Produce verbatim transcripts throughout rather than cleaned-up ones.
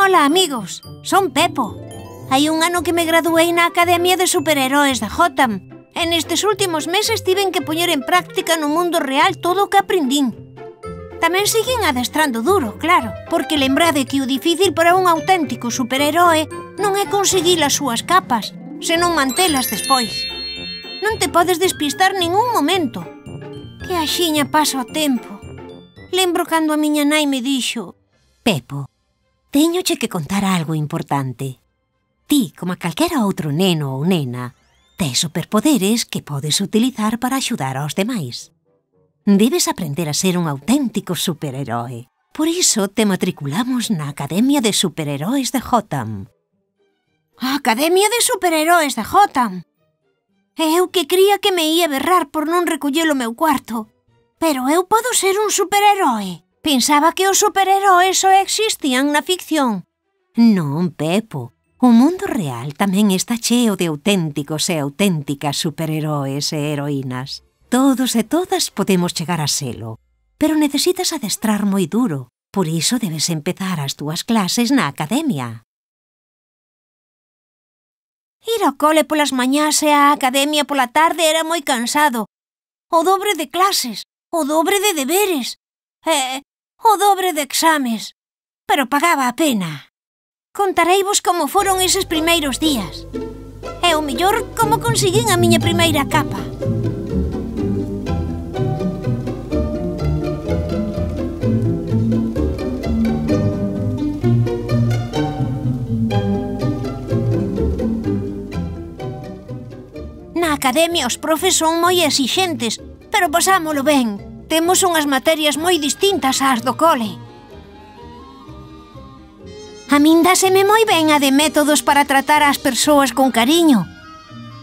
Ola, amigos, son Pepo. Hai un ano que me graduei na Academia de Superheroes de Gotham e nestes últimos meses tiven que poñer en práctica no mundo real todo o que aprendín. Tamén siguen adestrando duro, claro, porque lembrade que o difícil para un auténtico superheroe non é conseguir as súas capas, senón mantelas despois. Non te podes despistar ningún momento. Que axiña pasa o tempo. Lembro cando a miña nai me dixo: Pepo, téñoche que contar algo importante. Ti, como a calquera outro neno ou nena, tes superpoderes que podes utilizar para axudar aos demais. Debes aprender a ser un auténtico superheroe. Por iso te matriculamos na Academia de Superheroes de Gotham. A Academia de Superheroes de Gotham? E eu que cría que me ia berrar por non recoller o meu cuarto. Pero eu podo ser un superheroe. Pensaba que os superheroes só existían na ficción. Non, Pepo. O mundo real tamén está cheo de auténticos e auténticas superheroes e heroínas. Todos e todas podemos chegar a selo, pero necesitas adestrar moi duro. Por iso debes empezar as túas clases na academia. Ir ao cole polas mañás e á academia pola tarde era moi cansado. O dobre de clases, o dobre de deberes, e o dobre de exames. Pero pagaba a pena. Contareivos como foron eses primeiros días. E o mellor, como conseguín a miña primeira capa. Na academia os profes son moi exixentes, pero pasámolo ben. Temos unhas materias moi distintas ás do cole. A min dáseme moi ben a de métodos para tratar as persoas con cariño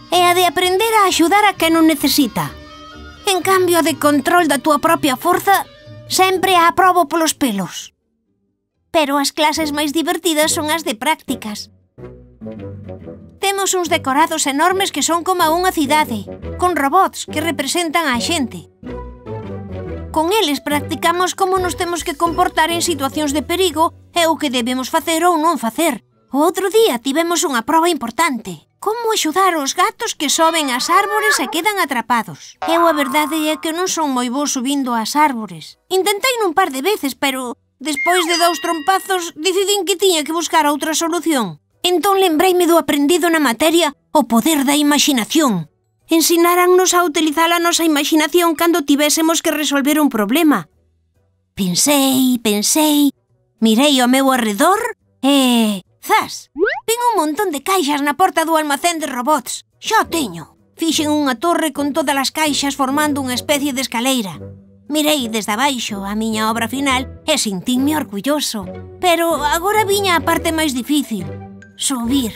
e a de aprender a axudar a quen non necesita. En cambio, a de control da túa propia forza sempre a aprobo polos pelos. Pero as clases máis divertidas son as de prácticas. Temos uns decorados enormes que son como unha cidade, con robots que representan a xente. Con eles practicamos como nos temos que comportar en situacións de perigo e o que debemos facer ou non facer. O outro día tivemos unha proba importante. Como axudar os gatos que soben ás árbores e quedan atrapados. Eu a verdade é que non son moi bo subindo ás árbores. Intentei nun par de veces, pero despois de dous trompazos decidín que tiña que buscar outra solución. Entón lembreime do aprendido na materia o poder da imaxinación. Ensinárannos a utilizar a nosa imaginación cando tivésemos que resolver un problema. Pensei, pensei, mirei ao meu arredor e... zas! Vin un montón de caixas na porta do almacén de robots. Xa o teño. Fixen unha torre con todas as caixas formando unha especie de escaleira. Mirei desde abaixo a miña obra final e sentínme orgulloso. Pero agora viña a parte máis difícil. Subir.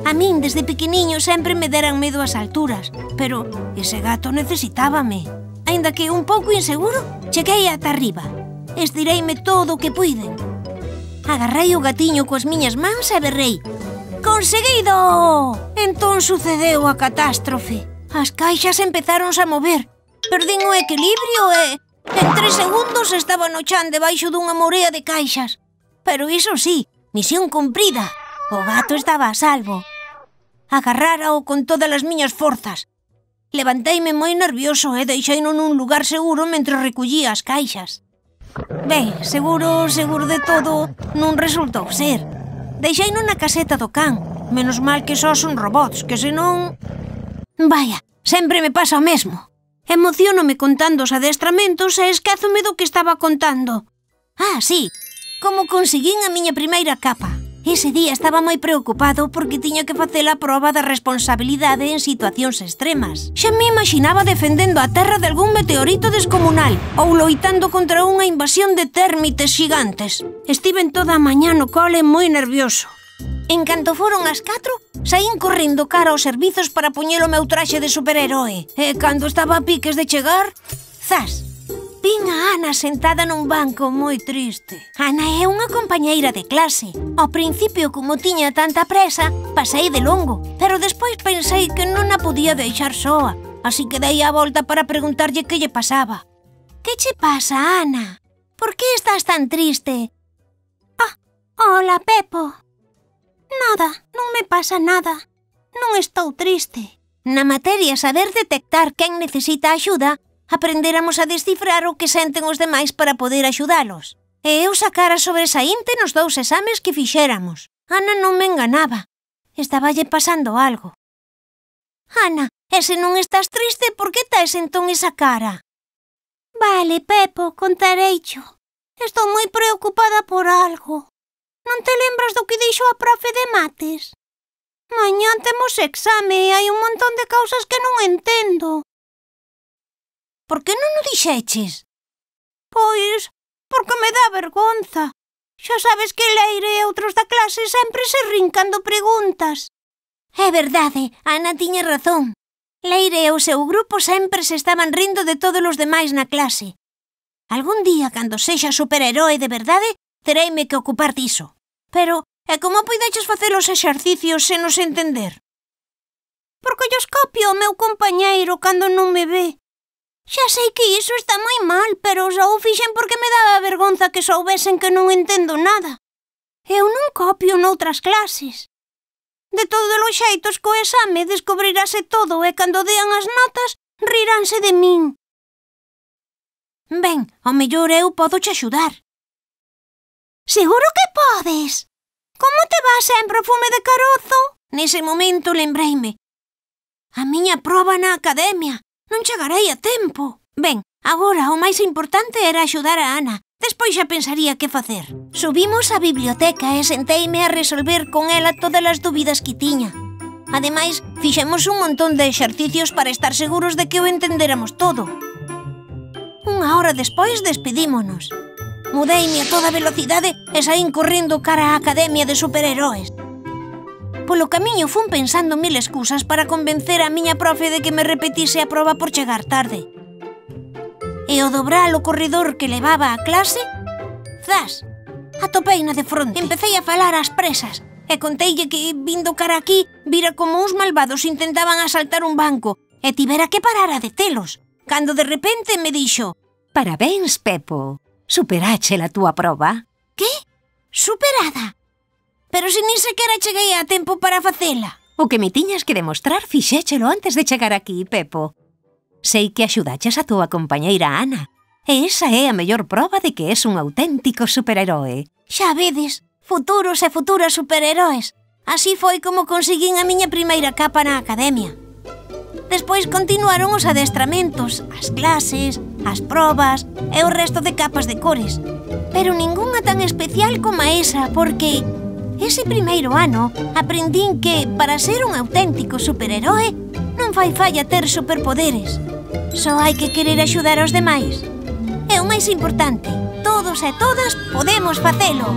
A min, desde pequeniño, sempre me deran medo as alturas, pero ese gato necesitábame. Aínda que un pouco inseguro, cheguei ata arriba. Estireime todo o que puiden. Agarrei o gatiño coas miñas mans e berrei: «Conseguido!» Entón sucedeu a catástrofe. As caixas empezáronse a mover. Perdín o equilibrio e, en tres segundos, estaba no chan debaixo dunha morea de caixas. Pero iso sí, misión cumprida. O gato estaba a salvo. Agarrárao con todas as miñas forzas. Levanteime moi nervioso e deixeino nun lugar seguro mentre recollía as caixas. Ben, seguro, seguro de todo, non resultou ser. Deixeino na caseta do can. Menos mal que só son robots, que senón... Vaya, sempre me pasa o mesmo. Emociónome contando os adestramentos e esquézome do que estaba contando. Ah, sí, como conseguín a miña primeira capa. Ese día estaba moi preocupado porque tiña que facer a proba da responsabilidade en situacións extremas. Xa me imaginaba defendendo a terra de algún meteorito descomunal ou loitando contra unha invasión de térmites xigantes. Estiven toda a mañá no cole moi nervioso. En canto foron as catro, saín correndo cara aos servizos para poñer o meu traxe de superheroe. E cando estaba a piques de chegar, zas! Vin a Ana sentada nun banco moi triste. Ana é unha compañeira de clase. Ao principio, como tiña tanta presa, pasei de longo, pero despois pensei que non a podía deixar soa, así que dei a volta para preguntarlle que lle pasaba. Que che pasa, Ana? Por que estás tan triste? Ah, oh, Ola, Pepo. Nada, non me pasa nada. Non estou triste. Na materia saber detectar quen necesita axuda, aprendéramos a descifrar o que senten os demais para poder axudalos. E eu sacara sobresaínte nos dous exames que fixéramos. Ana non me enganaba. Estaballe pasando algo. Ana, e se non estás triste, por que tes entón esa cara? Vale, Pepo, contareicho. Estou moi preocupada por algo. Non te lembras do que dixo a profe de mates? Mañá temos exame e hai un montón de causas que non entendo. Por que non o dixeches? Pois, porque me dá vergonza. Xa sabes que Leire e outros da clase sempre se rin cando preguntas. É verdade, Ana tiña razón. Leire e o seu grupo sempre se estaban rindo de todos os demais na clase. Algún día, cando sexa superheroe de verdade, tereime que ocupar diso. Pero, e como poideches facer os exercicios sen nos entender? Porque llos copio o meu compañeiro cando non me ve. Xa sei que iso está moi mal, pero só o fixen porque me daba vergonza que soubesen que non entendo nada. Eu non copio noutras clases. De todos os xeitos, co exame descubrirase todo e cando dean as notas, riránse de min. Ben, ao mellor eu podo che axudar. Seguro que podes. Como te va sempre o fume de carozo? Nese momento lembreime. A miña proba na academia. Non chegarei a tempo. Ben, agora o máis importante era axudar a Ana. Despois xa pensaría que facer. Subimos á biblioteca e senteime a resolver con ela todas as dúbidas que tiña. Ademais, fixemos un montón de exercicios para estar seguros de que o entendéramos todo. Unha hora despois despedímonos. Mudeime a toda velocidade e saín correndo cara á Academia de Superheroes. Polo camiño fun pensando mil excusas para convencer a miña profe de que me repetise a proba por chegar tarde. E ao dobrar o corredor que levaba á clase, zas, atopeina de fronte. Empecei a falar ás presas e conteille que, vindo cara aquí, vira como uns malvados intentaban asaltar un banco e tivera que parar a detelos, cando de repente me dixo: Parabéns, Pepo. Superache a túa proba. Que? Superada? Pero se nin sequera cheguei a tempo para facela. O que me tiñas que demostrar fixéchelo antes de chegar aquí, Pepo. Sei que axudaches a túa compañeira Ana, e esa é a mellor proba de que és un auténtico superheroe. Xa vedes, futuros e futuras superheroes. Así foi como conseguín a miña primeira capa na academia. Despois continuaron os adestramentos, as clases, as probas e o resto de capas de cores. Pero ningunha tan especial como esa, porque ese primeiro ano aprendín que, para ser un auténtico superheroe, non fai falla ter superpoderes. Só hai que querer axudar aos demais. E o máis importante, todos e todas podemos facelo.